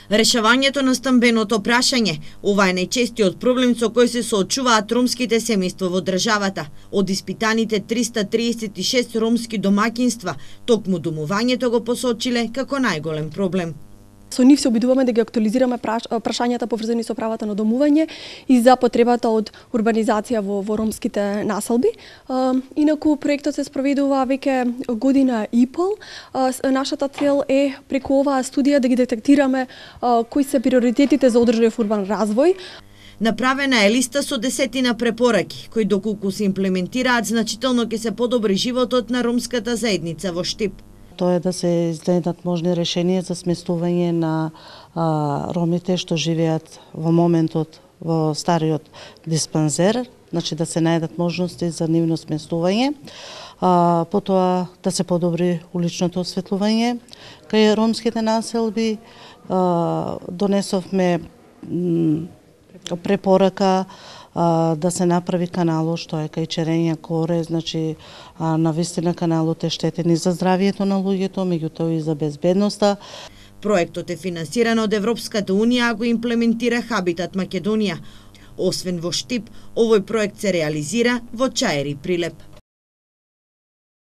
Решавањето на стамбеното прашање, ова е најчестиот проблем со кој се соочуваат ромските семејства во државата. Од испитаните 336 ромски домаќинства, токму домувањето го посочиле како најголем проблем. Со нив се обидуваме да ги актуализираме прашањата поврзани со правата на домување и за потребата од урбанизација во ромските населби. Инаку проектот се спроведува веќе година и пол. Нашата цел е преку оваа студија да ги детектираме кои се приоритетите за одржлив урбан развој. Направена е листа со 10 препораки, кои доколку се имплементираат, значително ќе се подобри животот на ромската заедница во Штип. Тоа е да се изнедат можни решенија за сместување на ромите што живеат во моментот во стариот диспансер, значи да се најдат можности за нивно сместување, потоа да се подобри уличното осветлување кај ромските населби. Донесовме препорака да се направи каналот што е кај Черења Коре, значи навистина каналот е штетен и за здравието на луѓето, меѓутоа и за безбедноста. Проектот е финансиран од Европската унија, а го имплементира Хабитат Македонија. Освен во Штип, овој проект се реализира во Чаери Прилеп.